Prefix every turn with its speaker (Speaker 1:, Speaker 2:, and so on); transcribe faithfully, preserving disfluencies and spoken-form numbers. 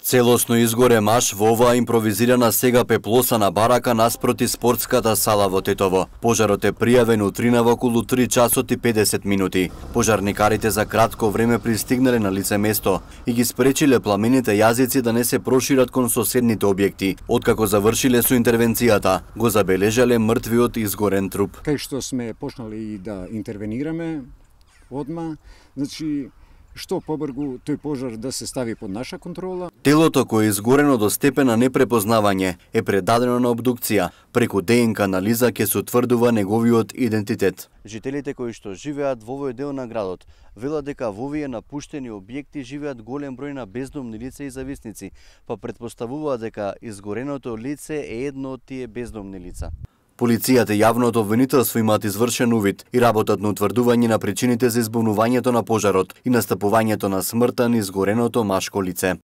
Speaker 1: Целосно изгоре маж во оваа импровизирана сега пеплосана барака наспроти спортската сала во Тетово. Пожарот е пријавен утрина во околу три часот и педесет минути. Пожарникарите за кратко време пристигнале на лице место и ги спречиле пламените јазици да не се прошират кон соседните објекти. Откако завршиле со интервенцијата, го забележале мртвиот изгорен труп.
Speaker 2: Кај што сме почнали да интервенираме одма, значи што побргу тој пожар да се стави под наша контрола.
Speaker 1: Телото кое е изгорено до степен на непрепознавање е предадено на обдукција. Преку ДНК анализа ќе се утврдува неговиот идентитет. Жителите кои што живеат во овој дел на градот велат дека во овие напуштени објекти живеат голем број на бездомни лица и зависници, па претпоставуваат дека изгореното лице е едно од тие бездомни лица. Полицијата и јавното обвинителство имаат извршен увид и работат на утврдување на причините за избунувањето на пожарот и настапувањето на смртта на изгореното машко лице.